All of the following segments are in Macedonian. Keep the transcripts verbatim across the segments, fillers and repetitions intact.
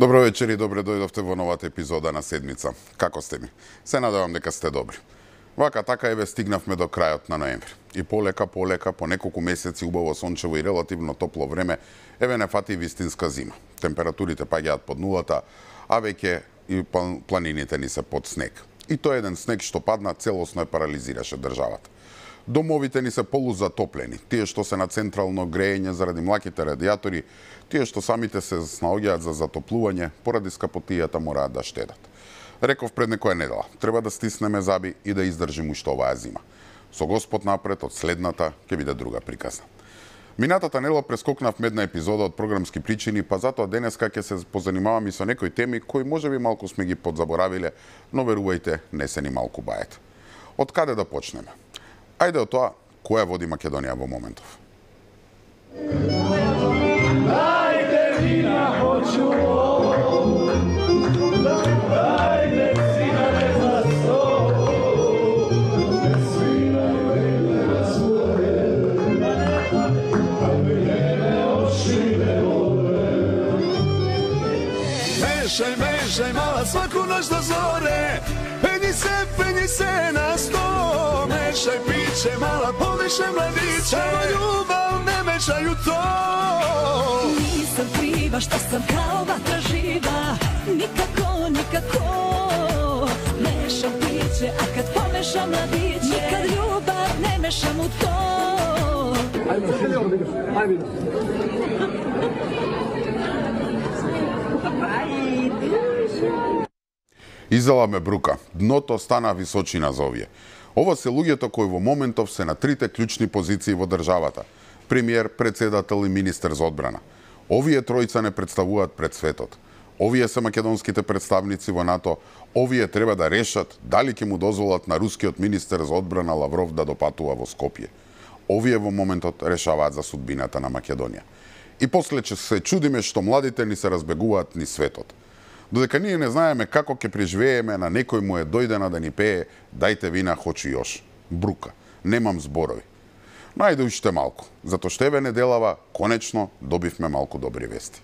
Добро вечер и добре дојдовте во новата епизода на Седмица. Како сте ми? Се надевам дека сте добри. Вака така еве стигнавме до крајот на ноември. И полека, полека, по неколку месеци убаво сончево и релативно топло време, еве не фати вистинска зима. Температурите паѓаат под нулата, а веќе и планините ни се под снег. И тој еден снег што падна целосно е парализираше државата. Домовите ни се полузатоплени, тие што се на централно грејење заради млаките радиатори, тие што самите се снаоѓаат за затоплување, поради скапотијата мораат да штедат. Реков пред некоја недела, треба да стиснеме заби и да издржиме уште оваа зима. Со Господ напред, од следната ќе биде друга приказна. Минатата недела прескокнавме една епизода од програмски причини, па затоа денеска ќе се позанимавам и со некои теми кои можеби малку сме ги подзаборавиле, но верувајте, не се ни малку бајат. Од каде да почнеме? Ајде од тоа, која води Македонија во моментов? Ајде вина хочу, ајде сина не засто, свина не своје, ајде очи не воле. Мешај, мешај, мала сваку ноќ до зоре, пени се, пени се на сто. Мешај пиче, мала помешај младиче, само љубав не мешај у то. Нисам крива што сам као ватра жива, никако, никако. Мешам пиче, а кад помешам младиче, никад љубав не мешам у то. Изела ме брука, дното стана височина за овие. Ова се луѓето кои во моментов се на трите клучни позиции во државата. Премиер, председател и министер за одбрана. Овие тројца не представуваат пред светот. Овие се македонските представници во НАТО. Овие треба да решат дали ќе му дозволат на рускиот министер за одбрана Лавров да допатува во Скопје. Овие во моментот решаваат за судбината на Македонија. И после че се чудиме што младите ни се разбегуваат ни светот. Додека ние не знаеме како ќе преживееме, на некој му е дојдена да ни пее "Дајте вина, хочу још". Брука, немам зборови. Но ајде уште малку, затоа што еве неделава, конечно, добивме малку добри вести.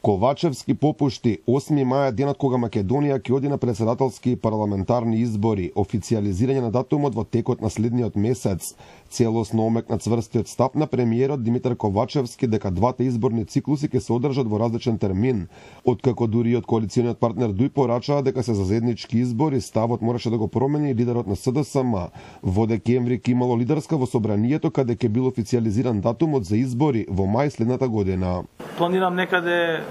Ковачевски попушти, осми мај денот кога Македонија ќе оди на председателски и парламентарни избори, официализирање на датумот во текот на следниот месец. Целосно омекна цврстиот став на премиерот Димитар Ковачевски дека двата изборни циклуси ќе се одржат во различен термин. Откако дури од коалициониот партнер Дуј порачаа дека се за заеднички избори, ставот мораше да го промени лидерот на С Д С М. Во декември ќе имало лидерска во собранието каде ќе бил официализиран датумот за избори во мај следната година. Планирам некаде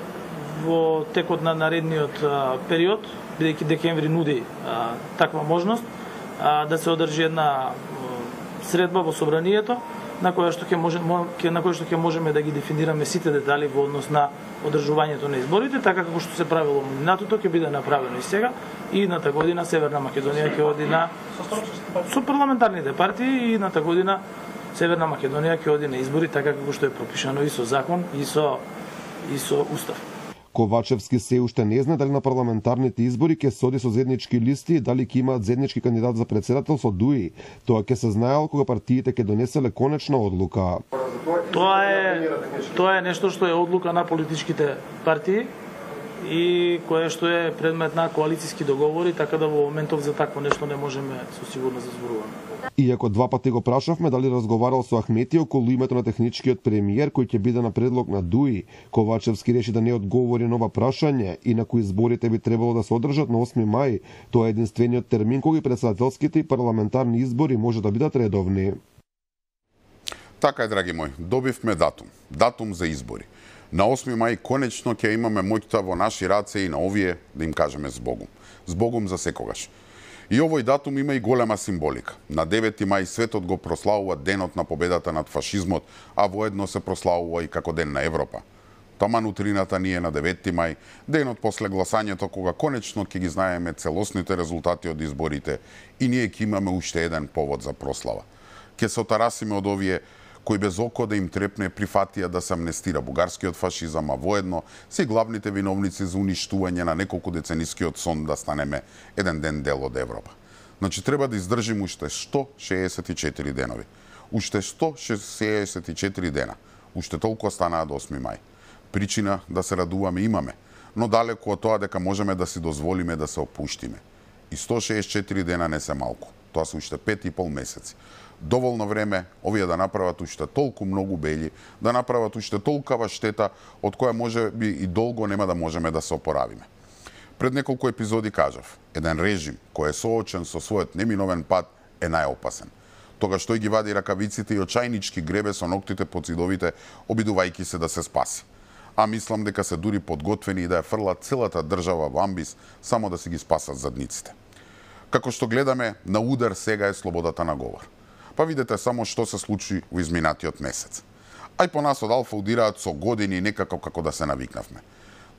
во текот на наредниот а, период, бидејќи декември нуди а, таква можност, а, да се одржи една а, средба во собранието, на која што ќе може, на која што ќе можеме да ги дефинираме сите детали во однос на одржувањето на изборите, така како што се правило минатото ќе биде направено и сега, и едната година Северна Македонија ќе оди на со парламентарните партии, и едната година Северна Македонија ќе оди на избори така како што е пропишано и со закон и со и со устав. Ковачевски се уште не знае дали на парламентарните избори ќе се оди со заеднички листи и дали ќе имаат заеднички кандидат за председател со Дуи. Тоа ќе се знаел кога партиите ќе донеселе конечна одлука. Тоа е тоа е нешто што е одлука на политичките партии и кое што е предмет на коалициски договори, така да во моментов за такво нешто не можеме со сигурност да зборуваме. Иако два пати го прашавме дали разговарал со Ахмети околу името на техничкиот премиер кој ќе биде на предлог на Дуи, Ковачевски реши да не одговори на ова прашање и на кои изборите би требало да се одржат на осми мај. Тоа е единствениот термин кога председателските и парламентарни избори може да бидат редовни. Така е, драги мои, добивме датум. Датум за избори. На осми мај конечно ќе имаме моќта во наши раце и на овие да им кажеме збогум. Збогум за секогаш. И овој датум има и голема символика. На девети мај светот го прославува денот на победата над фашизмот, а воедно се прославува и како ден на Европа. Таман утрината ние на девети мај, денот после гласањето кога конечно ќе ги знаеме целосните резултати од изборите и ние ќе имаме уште еден повод за прослава. Ќе се отарасиме од овие кои без око да им трепне прифатија да се амнестира бугарскиот фашизам, а воедно се главните виновници за уништување на неколку деценискиот сон да станеме еден ден дел од Европа. Значи треба да издржиме уште сто шеесет и четири денови. Уште сто шеесет и четири дена. Уште толку останаа до осми мај. Причина да се радуваме имаме, но далеку од тоа дека можеме да си дозволиме да се опуштиме. И сто шеесет и четири дена не се малку. Тоа се уште пет и пол месеци. Доволно време овие да направат уште толку многу бели, да направат уште толкава штета од која може би и долго нема да можеме да се опоравиме. Пред неколку епизоди кажав, еден режим кој е соочен со својот неминовен пат е најопасен. Тогаш тој ги вади ракавиците и очајнички гребе со ноктите под зидовите, обидувајќи се да се спаси. А мислам дека се дури подготвени и да ја фрлат целата држава во амбис само да си ги спасат задниците. Како што гледаме, на удар сега е слободата на говор. Па видете само што се случи во изминатиот месец. Ај по нас од Алфа удираат со години некако како да се навикнавме.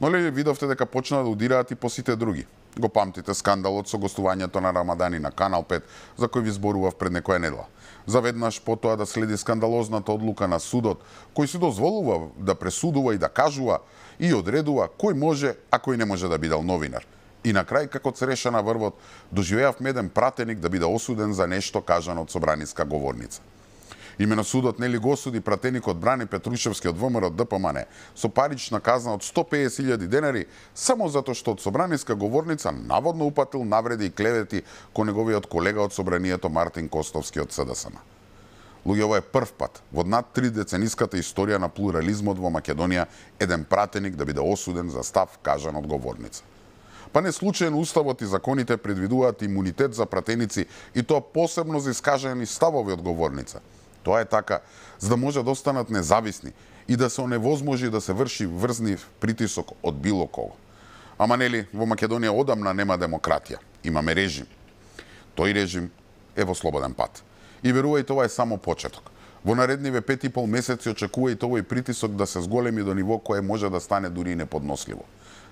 Но ли видовте дека почна да удираат и по сите други? Го памтите скандалот со гостувањето на Рамадани на Канал пет, за кој ви зборував пред некоја недела. Заведнаш потоа да следи скандалозната одлука на судот, кој си дозволува да пресудува и да кажува и одредува кој може, а кој не може да биде новинар. И на крај, како цреша на врвот, доживеавме еден пратеник да биде осуден за нешто кажано од собраниска говорница. Имено судот нели го осуди пратеникот Брани Петрушевски од ВМРО Д П М Н со парична казна од сто песет илјади денари само затоа што од собраниска говорница наводно упатил навреди и клевети кон неговиот колега од собранието Мартин Костовски од С Д С М. Луѓе, ова е прв пат во над три децениската историја на плурализмот во Македонија еден пратеник да биде осуден за став кажан од говорница. Па не случајно уставот и законите предвидуваат имунитет за пратеници и тоа посебно за искажани ставови од говорница. Тоа е така, за да може да останат независни и да се оневозможи да се врши врзнив притисок од било кого. Ама нели, во Македонија одамна нема демократија, имаме режим. Тој режим е во слободен пат. И верувајте, ова е само почеток. Во наредниве пет и пол месеци очекувајте овој притисок да се зголеми до ниво кое може да стане дури и неподносливо.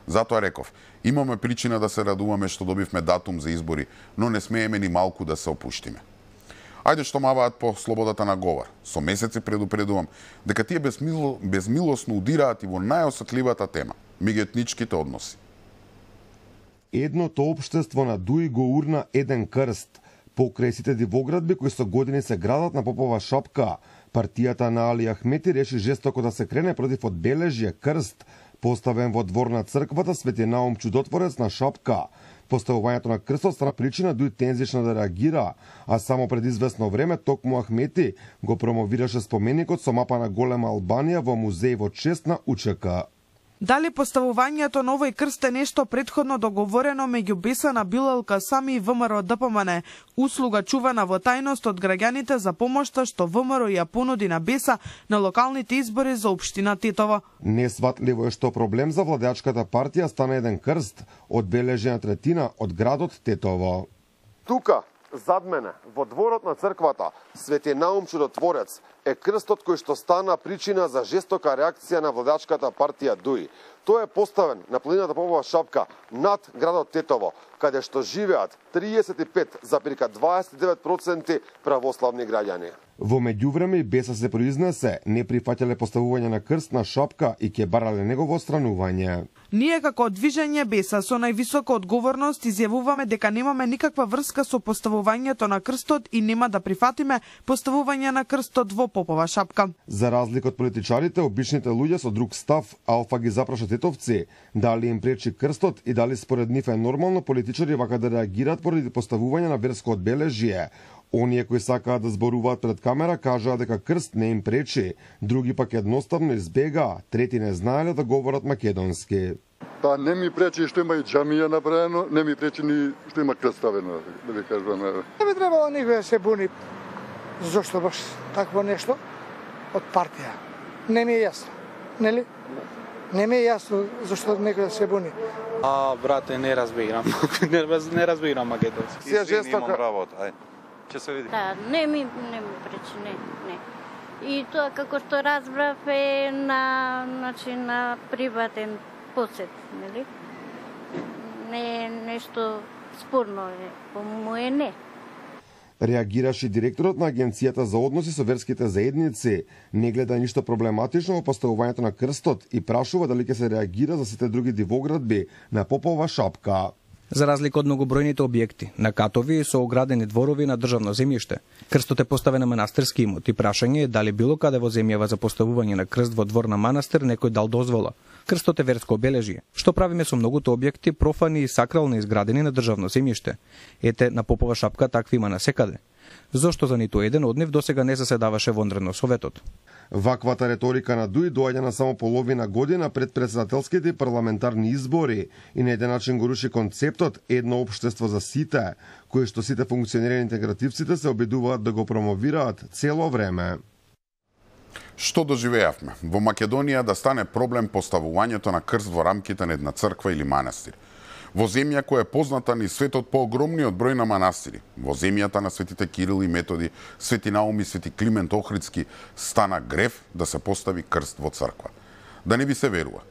Затоа реков, имаме причина да се радуваме што добивме датум за избори, но не смееме ни малку да се опуштиме. Ајде што маваат по слободата на говор. Со месеци предупредувам дека тие безмило, безмилосно удираат и во најосетливата тема – меѓуетничките односи. Едното општество на Дуи го урна еден крст. Покрај сите дивоградби кои со години се градат на Попова шапка, партијата на Али Ахмети реши жестоко да се крене против одбележје крст, поставен во двор на црквата Свети Наум Чудотворец на Шапка. Поставувањето на крстот стана причина Дуи тензично да реагира, а само пред известно време токму Ахмети го промовираше споменикот со мапа на голема Албанија во музеј во чест на У Ч К. Дали поставувањето на овој крст е нешто претходно договорено меѓу Беса на Билал Касами и ВМРО Д П М Н, услуга чувана во тајност од граѓаните за помошта што ВМРО ја понуди на Беса на локалните избори за општина Тетово. Несватливо е што проблем за владеачката партија стана еден крст, одбележена третина од градот Тетово. Тука, зад мене, во дворот на црквата Свети Наум Чудотворец, е крстот кој што стана причина за жестока реакција на владачката партија Дуи. Тој е поставен на планината Попова шапка над градот Тетово, каде што живеат триесет и пет зарез дваесет и девет проценти православни граѓани. Во меѓувреме и Беса се произнесе, не прифаќале поставување на крст на шапка и ќе барале негово отстранување. Ние како движење Беса со највисока одговорност изјавуваме дека немаме никаква врска со поставувањето на крстот и нема да прифатиме поставување на крстот во Попова шапка. За разлика од политичарите, обичните луѓе со друг став, Алфа ги запраша тетовци, дали им пречи крстот и дали според нив е нормално политичари вака да реагираат поради поставување на верско одбележје. Оние кои сакаат да зборуваат пред камера кажаа дека крст не им пречи, други пак едноставно избегаа, трети не знаеле да говорат македонски. Па не ми пречи што има и џамија направено, не ми пречи ни што има крст ставено, да ви кажувам. Не би требало никој да се буни зошто баш такво нешто од партија. Не ми е јасно, нели? Не ми е јасно зашто некој да се буни. А, брате, не разбирам. не, не разбирам македонски. Си е жестока работа, ај. Ќе се види. Да, не ми не ми пречи, не, не. И тоа како што разбрав е на значи на приватен посет, нели? Не е нешто спорно е, по му е не. Реагираше директорот на Агенцијата за односи со верските заедници, не гледа ништо проблематично во поставувањето на крстот и прашува дали ќе се реагира за сите други дивоградби на Попова шапка. За разлика од многобројните објекти на катови со оградени дворови на државно земјиште, крстот е поставен на манастирски имот и прашање е дали било каде во земјава за поставување на крст во двор на манастир некој дал дозвола. Крстот е верско обележје. Што правиме со многуто објекти профани и сакрални изградени на државно земјиште? Ете, на Попова шапка такви има насекаде. Зошто за ниту еден од нив досега не заседаваше вонредно советот? Ваквата реторика на Дуј доаѓа на само половина година пред председателските и парламентарни избори и на еден начин го руши концептот едно општество за сите, кој што сите функционери интегративците се обидуваат да го промовираат цело време. Што доживеавме? Во Македонија да стане проблем поставувањето на крст во рамките на една црква или манастир. Во земја која е позната ни светот по огромниот број на манастири, во земјата на светите Кирил и Методи, Свети Наум и Свети Климент Охридски, стана грев да се постави крст во црква. Да не би се верува.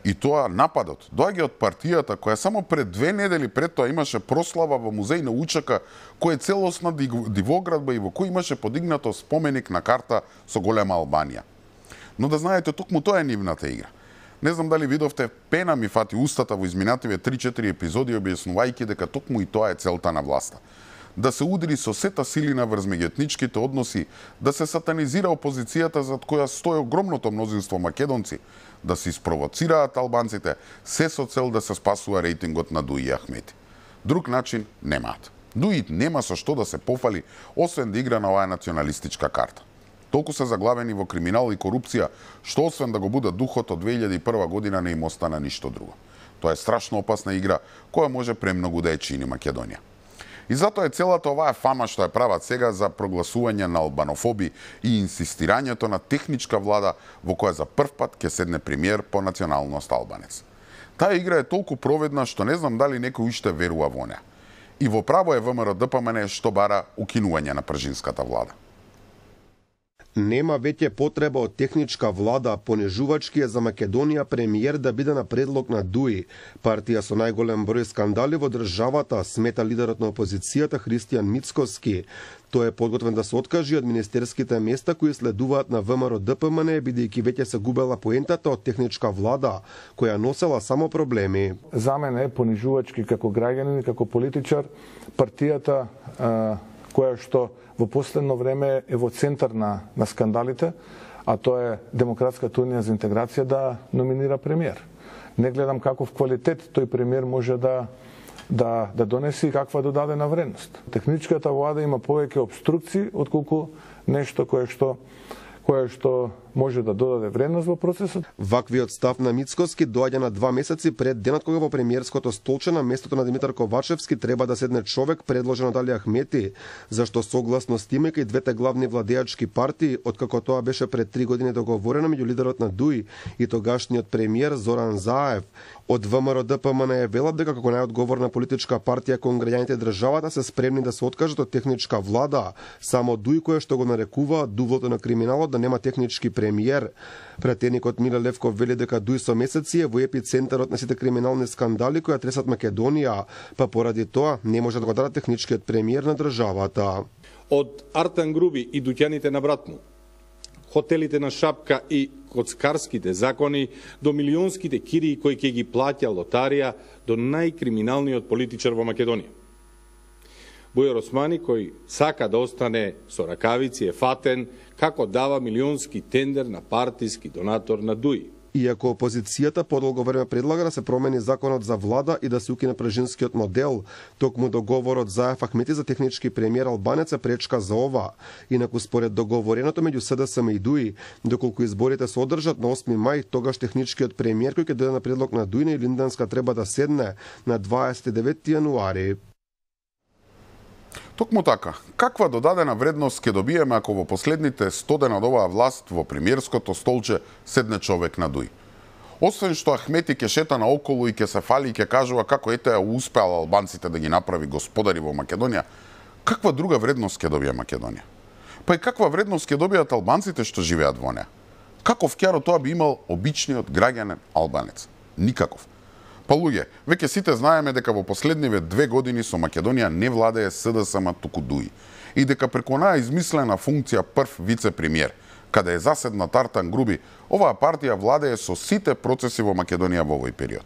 И тоа нападот доаѓа од партијата која само пред две недели пред тоа имаше прослава во музеј на Учака, кој е целосна дивоградба и во кој имаше подигнато споменик на карта со голема Албанија. Но да знаете, токму тоа е нивната игра. Не знам дали видовте, пена ми фати устата во изминативе три-четири епизоди објаснувајќи дека токму и тоа е целта на власта. Да се удри со сета силина врз меѓуетничките односи, да се сатанизира опозицијата зад која стои огромното мнозинство македонци, да се испровоцираат албанците, се со цел да се спасува рейтингот на Дуј и Ахмети. Друг начин немаат. Дуј нема со што да се пофали, освен да игра на оваа националистичка карта. Толку се заглавени во криминал и корупција, што освен да го будат духот од две илјади и прва година не им остана ништо друго. Тоа е страшно опасна игра, која може премногу да ја чини Македонија. И затоа е целата оваа фама што ја прават сега за прогласување на албанофоби и инсистирањето на техничка влада во која за прв пат ќе седне премиер по националност албанец. Таа игра е толку проведна што не знам дали некој уште верува во неа. И во право е ВМРО Д П М Н што бара укинување на пржинската влада. Нема веќе потреба од техничка влада, понижувачки е за Македонија премиер да биде на предлог на Дуј. Партија со најголем број скандали во државата, смета лидерот на опозицијата Христијан Мицкоски. Тој е подготвен да се откажи од министерските места кои следуваат на ВМРО Д П М Н, бидејќи веќе се губела поентата од техничка влада, која носела само проблеми. За мене е понижувачки како граѓанин и како политичар партијата а, која што во последно време е во центар на, на скандалите, а тоа е Демократската унија за интеграција да номинира премиер. Не гледам каков квалитет тој премиер може да, да, да донеси и каква додадена вредност. Техничката влада има повеќе обструкции отколку нешто кое што кое што може да додаде вредност во процесот. Ваквиот став на Мицкоски доаѓа на два месеци пред денот кога во премиерското столче на местото на Димитар Ковачевски треба да седне човек предложен од Али Ахмети, зашто согласно стимајќи двете главни владеачки партии, откако тоа беше пред три години договорено меѓу лидерот на Дуј и тогашниот премиер Зоран Заев. Од ВМРО Д П М Н е велат дека како најодговорна политичка партија кон граѓаните државата се спремни да се откажат од техничка влада, само Дуј кој што го нарекува дувлото на криминалот да нема технички премиер. Пратеникот Миле Левков вели дека Дуј со месеци е во епицентарот на сите криминални скандали кои тресат Македонија, па поради тоа не може да го даде техничкиот премиер на државата. Од Артан Груби и дуќаните на брат му, хотелите на Шапка и коцкарските закони, до милионските кирии кои ќе ги плаќа лотарија, до најкриминалниот политичар во Македонија. Бујар Османи, кој сака да остане со ракавици, е фатен како дава милионски тендер на партиски донатор на Дуј. Иако опозицијата подолго време предлага да се промени законот за влада и да се укине пржинскиот модел, токму договорот Заев Ахмети за технички премиер албанец е пречка за ова. Инаку според договореното меѓу С Д С М и Дуј, доколку изборите се одржат на осми мај, тогаш техничкиот премиер кој ќе дојде на предлог на Дуј и Линданска треба да седне на дваесет и деветти јануари. Токму така, каква додадена вредност ќе добиеме ако во последните сто дена од оваа власт во премиерското столче седне човек на Дуј? Освен што Ахмети ќе шета наоколу и ќе се фали и ќе кажува како ете успеал албанците да ги направи господари во Македонија, каква друга вредност ќе добие Македонија? Па и каква вредност ќе добијат албанците што живеат во неа? Каков ќаро тоа би имал обичниот граѓанин албанец? Никаков. Па луѓе, веќе сите знаеме дека во последниве две години со Македонија не владее С Д С М, туку Дуј. И дека преку онаа измислена функција прв вице-премиер, каде е заседнат Артан Груби, оваа партија владее со сите процеси во Македонија во овој период.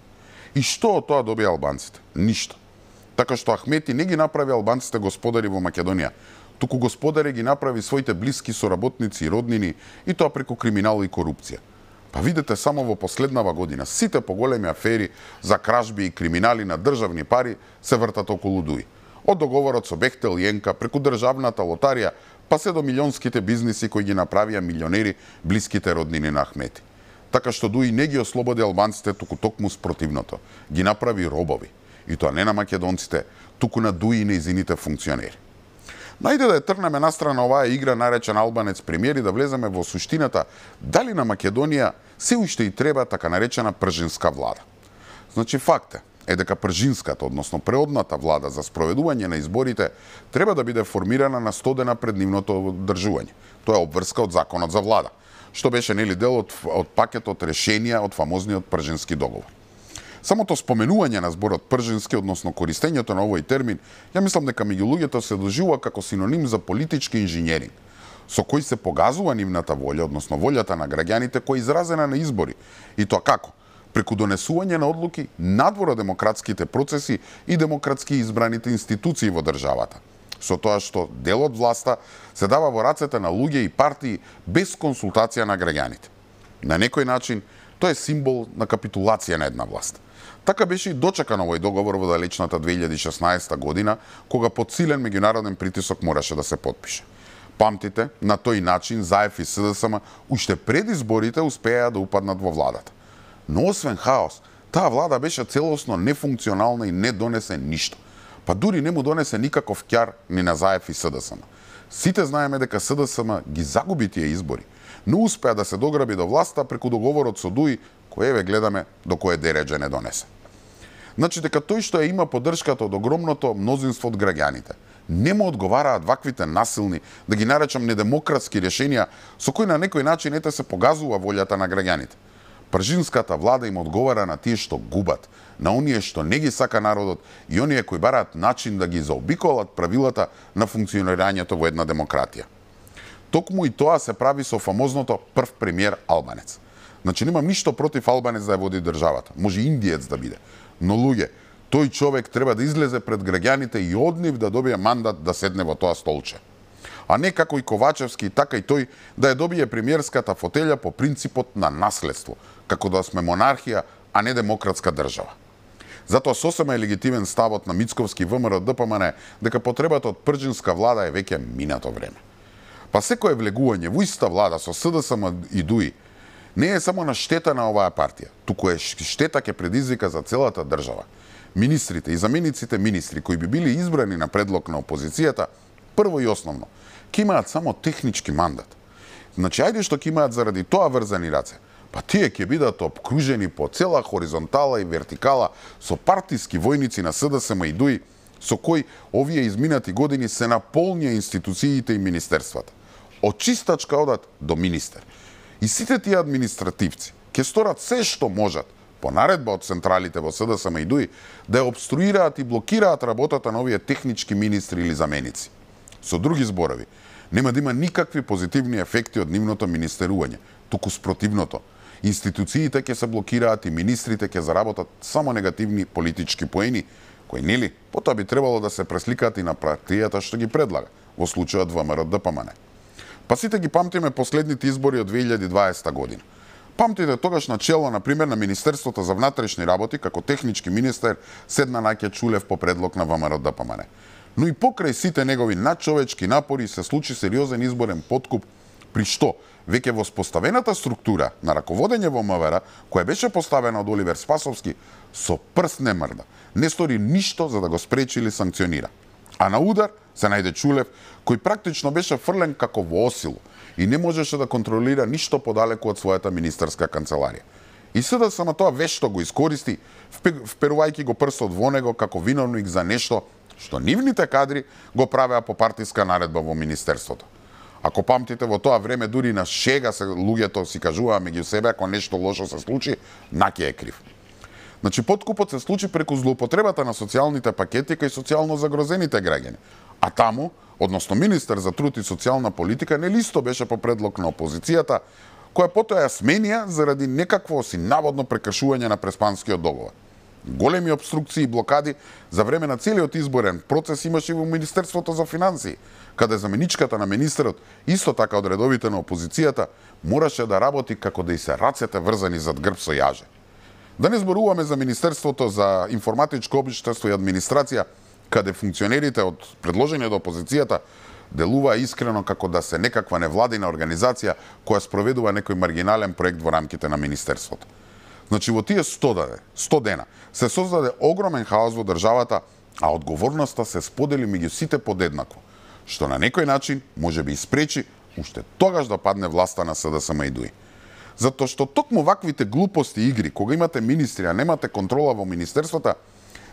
И што од тоа добија албанците? Ништо. Така што Ахмети не ги направи албанците господари во Македонија, туку господари ги направи своите блиски соработници и роднини, и тоа преку криминал и корупција. Па видете само во последнава година, сите поголеми афери за кражби и криминали на државни пари се вртат околу Дуи. Од договорот со Бехтел и Енка, преку државната лотарија, па се до милионските бизниси кои ги направија милионери блиските роднини на Ахмети. Така што Дуи не ги ослободи албанците, туку токму спротивното. Ги направи робови. И тоа не на македонците, туку на Дуи и нејзините функционери. Најде да ја трнеме настрана оваа игра наречен Албанец премиер и да влеземе во суштината дали на Македонија се уште и треба така наречена пржинска влада. Значи факт е дека пржинската, односно преодната влада за спроведување на изборите треба да биде формирана на сто дена пред нивното одржување. Тоа е обврска од законот за влада, што беше нели дел од, од пакетот решенија од фамозниот пржински договор. Самото споменување на зборот пржински, односно користењето на овој термин, ја мислам дека меѓу луѓето се доживува како синоним за политички инженеринг, со кој се погазува нивната волја, односно волјата на граѓаните која е изразена на избори. И тоа како? Преку донесување на одлуки надвор од демократските процеси и демократски избраните институции во државата. Со тоа што дел од власта се дава во рацете на луѓе и партии без консултација на граѓаните. На некој начин, тоа е символ на капитулација на една власт. Така беше и дочекан овој договор во далечната две илјади и шеснаесета година, кога под силен меѓународен притисок мораше да се потпише. Памтите, на тој начин ЗАЕФ и СДСМ уште пред изборите успеа да упаднат во владата. Но освен хаос, таа влада беше целосно нефункционална и не донесе ништо. Па дури не му донесе никаков ќар ни на ЗАЕФ и СДСМ. Сите знаеме дека СДСМ ги загуби тие избори, но успеа да се дограби до власта преку договорот со Дуи, кој еве гледаме до кое дереđe не донесе. Значи дека тој што ја има поддршката од огромното мнозинство од граѓаните, не му одговараат ваквите насилни, да ги наречам недемократски решенија, со кои на некој начин ете се погазува волјата на граѓаните. Пржинската влада им одговара на тие што губат, на оние што не ги сака народот и оние кои бараат начин да ги заобиколат правилата на функционирањето во една демократија. Токму и тоа се прави со фамозното прв премиер Албанец. Значи немам ништо против Албанец да ја води државата, може индиец да биде, но луѓе, тој човек треба да излезе пред граѓаните и од нив да добие мандат да седне во тоа столче. А не како и Ковачевски, така и тој да ја добие премиерската фотелја по принципот на наследство, како да сме монархија, а не демократска држава. Затоа сосема е легитимен ставот на Мицковски ВМРО ДПМН дека потребата од пржинска влада е веќе минато време. Па секое влегување во иста влада со СДСМ и Дуи не е само на штета на оваа партија, туку е штета ќе предизвика за целата држава. Министрите и замениците министри кои би били избрани на предлог на опозицијата, прво и основно, ќе имаат само технички мандат. Значи, ајде што ќе имаат заради тоа врзани раце, па тие ќе бидат обкружени по цела хоризонтала и вертикала со партиски војници на СДСМ и Дуи, со кои овие изминати години се наполнија институциите и министерствата. Од чистачка одат до министер. И сите тие административци ќе сторат се што можат по наредба од централите во СДСМ и Дуи да ја обструираат и блокираат работата на овие технички министри или заменици. Со други зборови, нема да има никакви позитивни ефекти од нивното министерување, туку спротивното. Институциите ќе се блокираат и министрите ќе заработат само негативни политички поени, кои нели потоа би требало да се пресликаат и на партијата што ги предлага, во случајот ВМРО ДПМН. Па сите ги памтиме последните избори од две илјади и дваесета година. Памтите тогаш на чело, например, на Министерството за внатрешни работи, како технички министер, седна Наќа Чулев по предлог на ВМРО ДПМН. Но и покрај сите негови надчовечки напори се случи сериозен изборен подкуп, при што веќе во споставената структура на раководење во МВР, која беше поставена од Оливер Спасовски, со прст не мрда, не стори ништо за да го спречи или санкционира. А на удар се најде Чулев, кој практично беше фрлен како во осилу и не можеше да контролира ништо подалеку од својата министерска канцеларија. И СДСМ тоа вешто го искористи, вперувајќи го прстот во него како виновник за нешто што нивните кадри го правеа по партиска наредба во министерството. Ако памтите, во тоа време дури на шега се луѓето си кажуваа меѓу себе ако нешто лошо се случи, Наќа е крив. Значи, поткупот се случи преку злоупотребата на социјалните пакети кај социјално загрозените граѓани. А таму, односно министер за труд и социјална политика, не листо беше по предлог на опозицијата, која потоа ја сменија заради некакво си наводно прекршување на Преспанскиот договор. Големи обструкции и блокади за време на целиот изборен процес имаше и во Министерството за финансии, каде заменичката на министерот, исто така од редовите на опозицијата, мораше да работи како да и се рацете врзани зад грб со јаже. Да не зборуваме за Министерството за информатичко општество и администрација, каде функционерите од предложени од опозицијата делува искрено како да се некаква невладина организација која спроведува некој маргинален проект во рамките на Министерството. Значи, во тие сто дена се создаде огромен хаос во државата, а одговорноста се сподели меѓу сите подеднакво, што на некој начин може би испречи уште тогаш да падне власта на СДСМ и ДУИ. Затоа што токму ваквите глупости и игри, кога имате министри, а немате контрола во министерствата,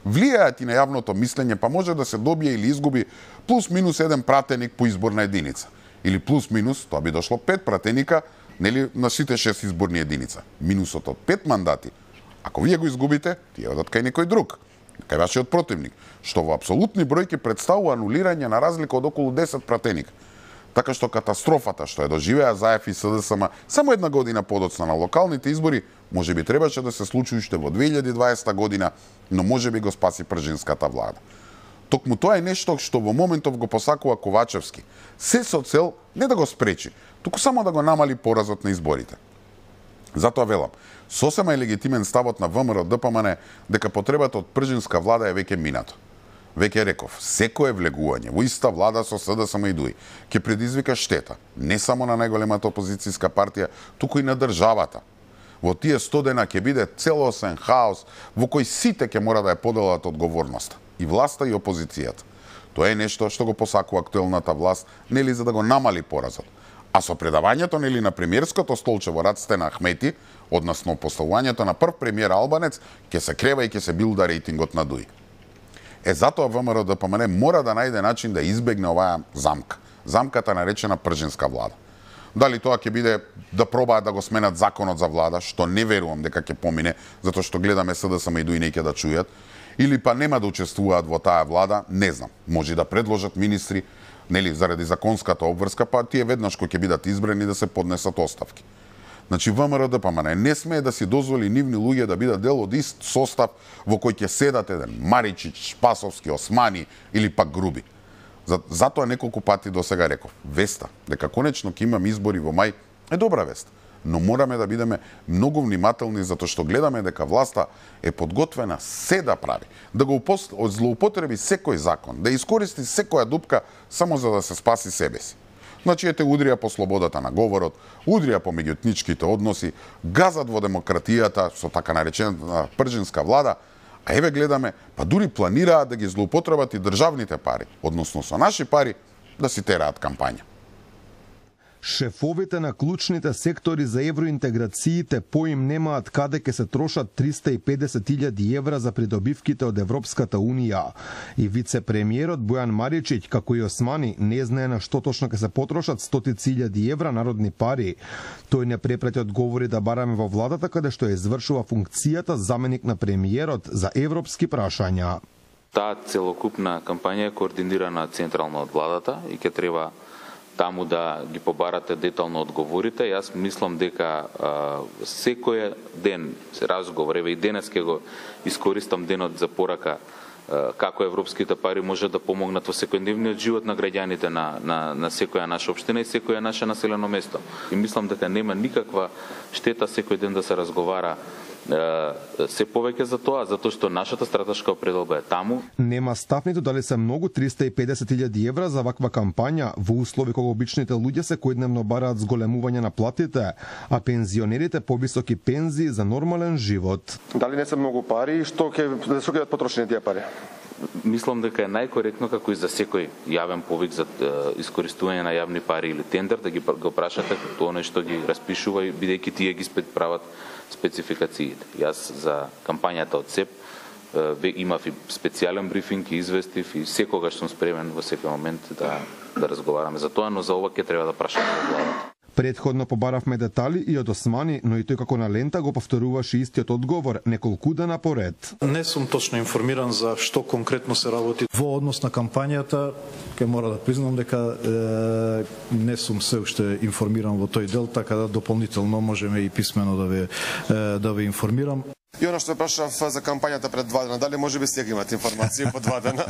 влијаат и на јавното мислење, па може да се добие или изгуби плюс-минус еден пратеник по изборна единица. Или плюс-минус, тоа би дошло пет пратеника, нели, на сите шест изборни единица. Минусот од пет мандати, ако вие го изгубите, тие одат кај некој друг, кај вашиот противник, што во апсолутни бројки представува анулирање на разлика од околу десет пратеника. Така што катастрофата што ја доживеа ЗАЕФ и СДСМ само една година подоцна на локалните избори, може би требаше да се случи уште во две илјади и дваесета година, но може би го спаси пржинската влада. Токму тоа е нешто што во моментов го посакува Ковачевски, се со цел не да го спречи, туку само да го намали поразот на изборите. Затоа велам, сосема е легитимен ставот на ВМРО Д П М Н дека потребата од пржинска влада е веќе минато. Веќе реков, секое влегување во иста влада со СДСМ и ДУИ ќе предизвика штета, не само на најголемата опозицијска партија, туку и на државата. Во тие сто дена ќе биде целосен хаос во кој сите ќе мора да ја поделат одговорноста, и власта и опозицијата. Тоа е нешто што го посакува актуелната власт, нели за да го намали поразот. А со предавањето нели на премиерското столче во раците на Ахмети, односно поставувањето на прв премиер албанец, ќе се крева и ќе се билда рейтингот на ДУИ. Е, затоа ВМРО Д П М Н мора да најде начин да избегне оваа замка. Замката наречена пржинска влада. Дали тоа ќе биде да пробаат да го сменат законот за влада, што не верувам дека ќе помине, затоа што гледаме СДСМ и ДУИ не ќе да чујат, или па нема да учествуваат во таа влада, не знам. Може да предложат министри, нели заради законската обврска, па тие веднаш кои ќе бидат избрани да се поднесат оставки. Значи ВМРО Д П М Н не смее да си дозволи нивни луѓе да бидат дел од ист состав во кој ќе седат еден Маричич, Спасовски, Османи или пак Груби. Затоа неколку пати до сега реков, веста дека конечно ќе имам избори во мај е добра вест, но мораме да бидеме многу внимателни затоа што гледаме дека власта е подготвена се да прави, да го злоупотреби секој закон, да искористи секоја дупка само за да се спаси себе си. Значи, ете, удрија по слободата на говорот, удрија по меѓуетничките односи, газат во демократијата со така наречената пржинска влада, а еве гледаме, па дури планираат да ги злоупотребат и државните пари, односно со наши пари, да си тераат кампања. Шефовите на клучните сектори за евроинтеграциите поим немаат каде ќе се трошат триста и педесет илјади евра за придобивките од Европската Унија. И вице-премиерот Бојан Маричич, како и Османи, не знае на што точно ќе се потрошат стотици илјади евра народни пари. Тој не препрати одговори да бараме во владата, каде што ја извршува функцијата заменик на премиерот за европски прашања. Таа целокупна кампања е координирана централно од владата и ќе треба таму да ги побарате детално одговорите. Јас мислам дека а, секој ден се разговор, еве и денес ќе го искористам денот за порака а, како европските пари може да помогнат во секојдневниот живот на граѓаните на, на, на секоја наша општина и секоја наше населено место. И мислам дека нема никаква штета секој ден да се разговара се повеќе за тоа, затоа што нашата стратешка определба е таму. Нема став ниту дали се многу триста и педесет илјади евра за ваква кампања во услови кога обичните луѓе секојдневно бараат зголемување на платите, а пензионерите повисоки пензии за нормален живот. Дали не се многу пари и што ќе да се бидат потрошени тие пари? Мислам дека е најкоректно како и за секој јавен повик за е, искористување на јавни пари или тендер да ги го прашате тоа што ги распишува и бидејќи тие ги прават спецификациите. Јас за кампањата од СЕП ве имав и специјален брифинг и известив и секогаш сум спремен во секој момент да да разговараме за тоа, но за ова ќе треба да прашаме во владата. Предходно побаравме детали и од Османи, но и тој како на лента го повторуваше истиот одговор неколку дена поред. Не сум точно информиран за што конкретно се работи во однос на кампањата. Ке мора да признам дека е, не сум се уште информиран во тој дел, така да дополнително можеме и писмено да ве е, да ве информирам. И оно што прашав за кампањата пред два дена, дали може би сега имате информации по два дена?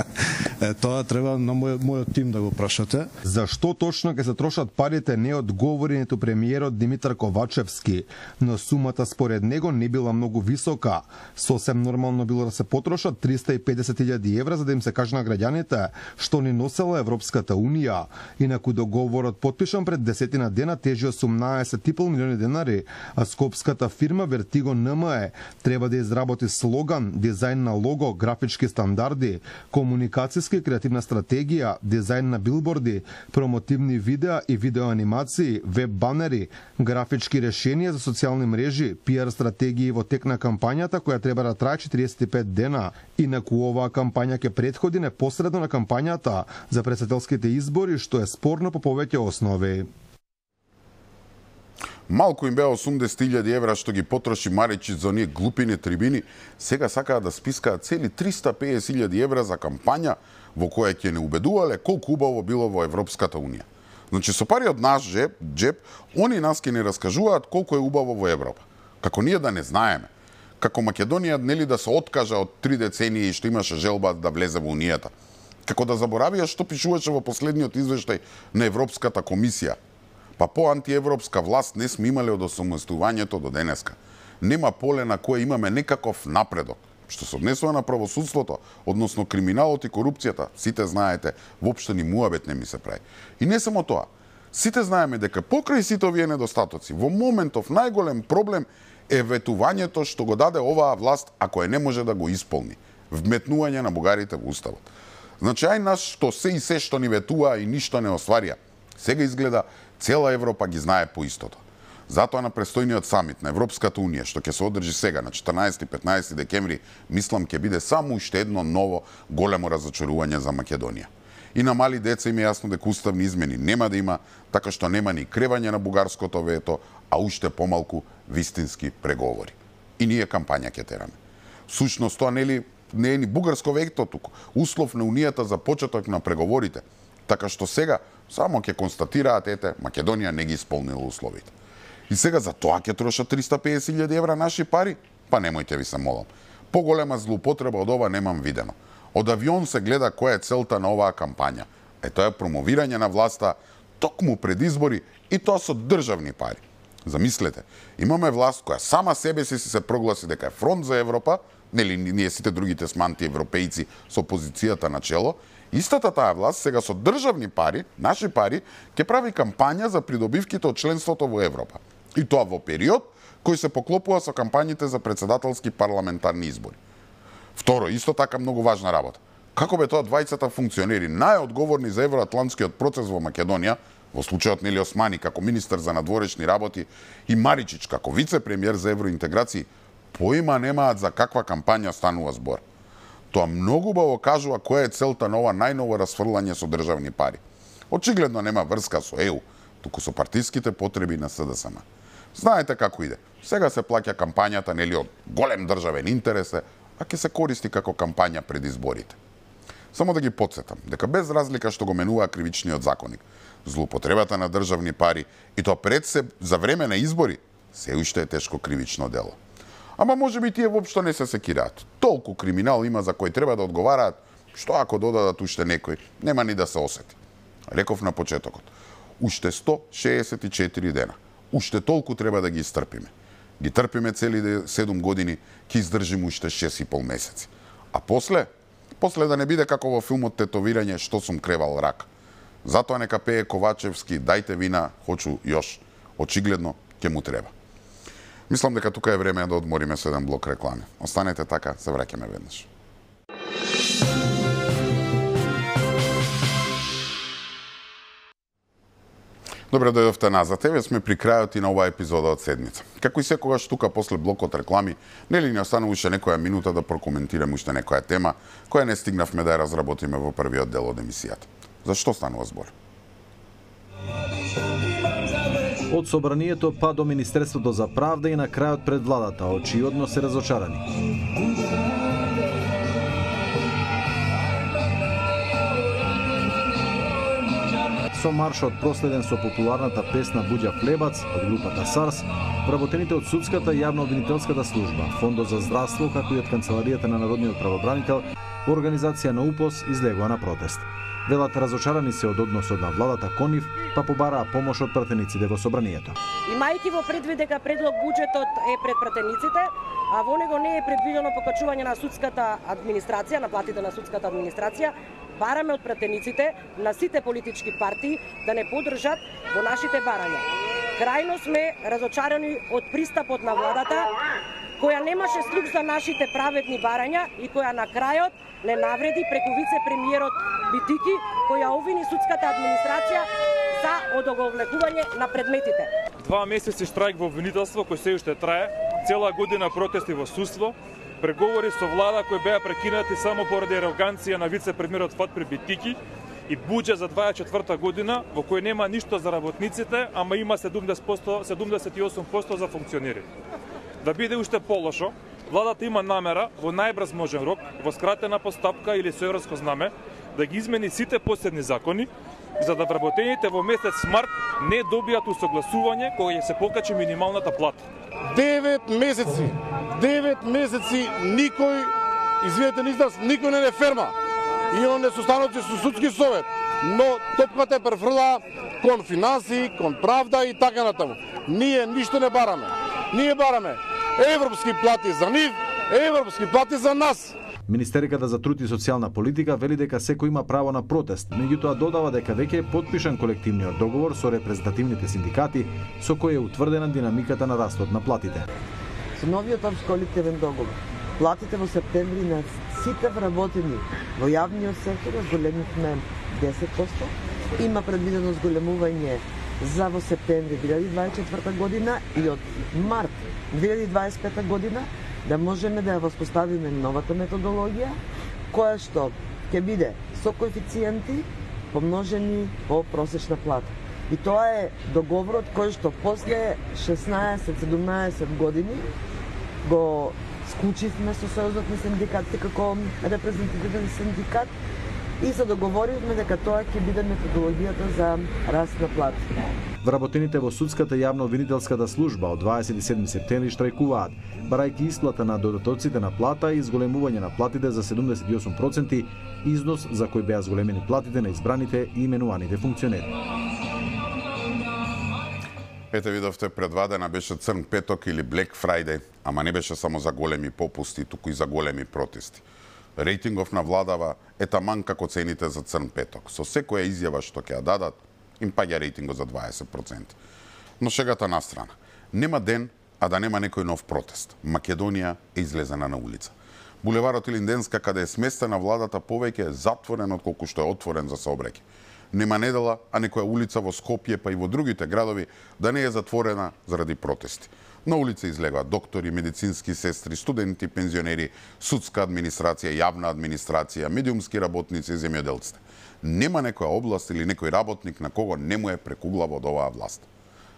Е, тоа треба на мој, мојот тим да го прашате. Зашто точно ќе се трошат парите не одговори ниту премиерот Димитар Ковачевски, но сумата според него не била многу висока. Сосем нормално било да се потрошат триста и педесет илјади евра за да им се каже на граѓаните што ни носела Европската унија. Инаку договорот потпишан пред десетина дена тежи осумнаесет и пол милиони денари, а скопската фирма Vertigo ен ем е треба да изработи слоган, дизајн на лого, графички стандарди, комуникацијска и креативна стратегија, дизајн на билборди, промотивни видеа и видеоанимации, веб банери, графички решенија за социјални мрежи, пиар стратегии во тек на кампањата која треба да трае четириесет и пет дена. Инаку оваа кампања ќе претходи непосредно на кампањата за претседателските избори, што е спорно по повеќе основи. Малку им беа осумдесет илјади евра што ги потроши Маричич за оние глупини трибини, сега сакаат да спискаат цели триста и педесет илјади евра за кампања во која ќе не убедувале колку убаво било во Европската унија. Значи со пари од наш джеб, джеб, они нас ќе не раскажуваат колку е убаво во Европа. Како ние да не знаеме. Како Македонија нели да се откажа од три децении што имаше желба да влезе во унијата. Како да заборавија што пишуваше во последниот извештај на Европската комисија. Па по антиевропска власт не сме имале од осамостојувањето до денеска. Нема поле на кое имаме некаков напредок. Што се однесува на правосудството, односно криминалот и корупцијата, сите знаете, воопшто ни муабет не ми се прави. И не само тоа. Сите знаеме дека покрај сите овие недостатоци, во моментов најголем проблем е ветувањето што го даде оваа власт ако е не може да го исполни. Вметнување на бугарите во уставот. Значи ај нас што се и се што ни ветуваа и ништо не остварија. Сега изгледа цела Европа ги знае по истото. Затоа на престојниот самит на Европската унија, што ќе се одржи сега на четрнаесет и петнаесет декември, мислам ќе биде само уште едно ново големо разочарување за Македонија. И на мали деца им е јасно дека уставни измени нема да има, така што нема ни кревање на бугарското вето, а уште помалку вистински преговори. И ние кампања ќе тераме. Сушност тоа нели не е ни бугарско вето туку, услов на унијата за почеток на преговорите. Така што сега само ќе констатираат, ете, Македонија не ги исполнила условите. И сега за тоа ќе трошат триста и педесет илјади евра наши пари? Па немојте ви се молам. Поголема злоупотреба од ова немам видено. Од авион се гледа која е целта на оваа кампања. Е тоа е промовирање на власта токму пред избори и тоа со државни пари. Замислете, имаме власт која сама себе си се прогласи дека е фронт за Европа, нели ние сите другите сме антиевропејци со позицијата на чело. Истата таа власт сега со државни пари, наши пари, ќе прави кампања за придобивките од членството во Европа. И тоа во период кој се поклопува со кампањите за претседателски парламентарни избори. Второ, исто така многу важна работа. Како бе тоа двајцата функционери најодговорни за евроатлантскиот процес во Македонија, во случајот Нели Османи како министер за надворешни работи и Маричич како вице-премиер за евроинтеграции, поима немаат за каква кампања станува збор. Тоа многу убаво кажува која е целта на ова најново расфрлање со државни пари. Очигледно нема врска со Е У, туку со партиските потреби на С Д С М. Знаете како иде. Сега се плаќа кампањата нели од голем државен интерес, а ќе се користи како кампања пред изборите. Само да ги потсетам дека без разлика што го менува кривичниот законник, злоупотребата на државни пари и тоа пред се за време на избори се уште е тешко кривично дело. Ама може би тие воопшто не се секираат. Толку криминал има за кој треба да одговараат, што ако додадат уште некој, нема ни да се осети. Реков на почетокот. Уште сто шеесет и четири дена. Уште толку треба да ги изтрпиме. Ги трпиме цели седум години, ќе издржиме уште шест и пол месеци. А после, после да не биде како во филмот Тетовирање што сум кревал рак. Затоа нека пее Ковачевски, дајте вина, хочу још. Очигледно ќе му треба. Мислам дека тука е време да одмориме со еден блок реклами. Останете така, се враќаме веднаш. Добре дојдовте назад. Еве сме при крајот и на оваа епизода од седмица. Како и секогаш тука после блокот реклами, нели ни останува уште некоја минута да прокоментираме уште некоја тема која не стигнавме да ја разработиме во првиот дел од емисијата. За што станува збор? Од собранието па до Министерството за правда и на крајот пред владата, очиодно се разочарани. Со маршот проследен со популарната песна Буѓа Флебац од групата Сарс, Вработените од судската и јавно-обвинителската служба, Фондот за здравство, како и од Канцеларијата на Народниот правобранител, во организација на УПОС излегува на протест. Велат разочарани се од односот на владата кон нив, па побараа помош од пратениците во собранието. Имајќи во предвид дека предлог буџетот е пред пратениците, а во него не е предвидено покачување на судската администрација, на платите на судската администрација, бараме од пратениците на сите политички партии да не поддржат во нашите барања. Крајно сме разочарани од пристапот на владата, која немаше слух за нашите праведни барања и која на крајот не навреди преку вице-премиерот Битики, која обвини судската администрација за одоговлекување на предметите. Два месеци штрајк во обвинителство кој се уште трае, цела година протести во судство, преговори со влада кои беа прекинати само поради ароганција на вице-премиерот Фатпир Битики и буџет за дваесет и четврта година во кој нема ништо за работниците, ама има седумдесет и осум проценти за функционерите. Да биде уште полошо, владата има намера во најбрз можен рок, во скратена постапка или со европско знаме, да ги измени сите последни закони, за да вработените во месец март не добијат усогласување кога ќе се покачи минималната плата. Девет месеци, девет месеци никој, извинете на израз, никој не не ферма. Имаме состаноци со судски совет, но топката е префрла кон финанси, кон правда и така натаму. Ние ништо не бараме. Ние бараме европски плати за нив, европски плати за нас. Министерката за труд и социјална политика вели дека секој има право на протест, меѓутоа додава дека веќе е потпишан колективниот договор со репрезентативните синдикати, со кој е утврдена динамиката на растот на платите. Со новиот општ колективен договор, платите во септември на сите вработени во јавниот сектор зголемивме десет проценти, има предвидено зголемување за во септември две илјади дваесет и четврта година и од март две илјади дваесет и пета година да можеме да ја воспоставиме новата методологија, која што ќе биде со коефициенти помножени по просечна плата. И тоа е договорот кој што после шеснаесет-седумнаесет години го склучивме со Сојузот на синдикатите како репрезентативен синдикат и се договоривме дека тоа ќе биде методологијата за раст на плати. Вработените во судската и јавно-обвинителската служба од дваесет и седми септември штрајкуваат, барајќи исплата на додатоците на плата и зголемување на платите за седумдесет и осум проценти, износ за кој беа зголемени платите на избраните и именуваните функционери. Ете видовте, предвадена беше Црн петок или Black Friday, ама не беше само за големи попусти, туку и за големи протести. Рейтингов на владава е таман како цените за Црн петок. Со секоја изјава што ќе ја дадат, им паѓа рейтингот за дваесет проценти. Но шегата на страна. Нема ден, а да нема некој нов протест. Македонија е излезена на улица. Булеварот Илинденска, каде е сместена владата, повеќе е затворен отколку што е отворен за сообраќај. Нема недела, а некоја улица во Скопје, па и во другите градови, да не е затворена заради протести. На улица излегаат доктори, медицински сестри, студенти, пензионери, судска администрација, јавна администрација, медиумски работници и земјоделците. Нема некоја област или некој работник на кого не му е прекуглава од оваа власт.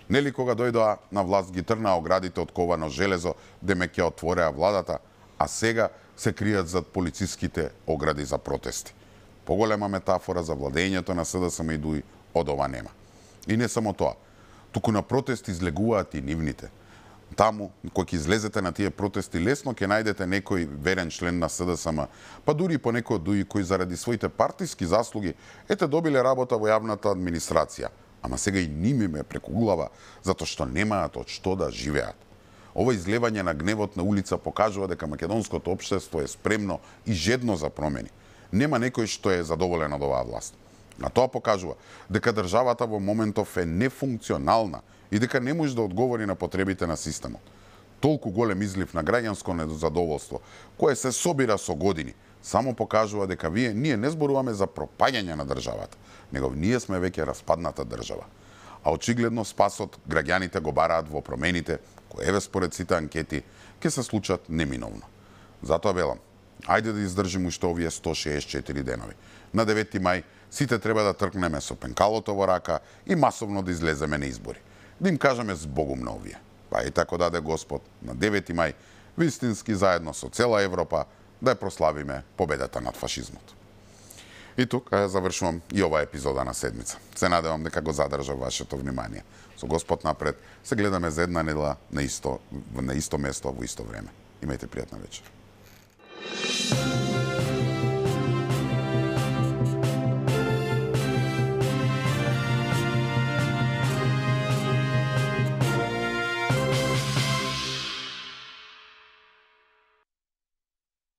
Нели кога дојдоа на власт ги трнаа оградите од ковано железо, деме ќе отвореа владата, а сега се кријат зад полициските огради за протести. Поголема метафора за владењето на СДСМ и ДУИ од ова нема. И не само тоа, туку на протести излегуваат и нивните. Таму, кој ќе излезете на тие протести, лесно ќе најдете некој верен член на СДСМ, па дури и по некој од ДУИ кои заради своите партиски заслуги ете добиле работа во јавната администрација, ама сега и ними ме прекуглава затоа што немаат од што да живеат. Ова излевање на гневот на улица покажува дека македонското општество е спремно и жедно за промени. Нема некој што е задоволен од оваа власт. А тоа покажува дека државата во моментов е нефункционална и дека не може да одговори на потребите на системот. Толку голем излив на граѓанско незадоволство, кое се собира со години, само покажува дека вие ние не зборуваме за пропаѓање на државата, него ние сме веќе распадната држава. А очигледно спасот граѓаните го бараат во промените, кои еве според сите анкети ќе се случат неминовно. Затоа велам, ајде да издржиме уште овие сто шеесет и четири денови. На девети мај сите треба да тркнеме со пенкалото во рака и масовно да излеземе на избори. Да им кажеме збогум на овие. Па и тако даде Господ на девети мај, вистински заедно со цела Европа, да ја прославиме победата над фашизмот. И тука ја завршувам и оваа епизода на седмица. Се надевам дека го задржав вашето внимание. Со Господ напред, се гледаме за една недела на исто, на исто место во исто време. Имајте пријатна вечер.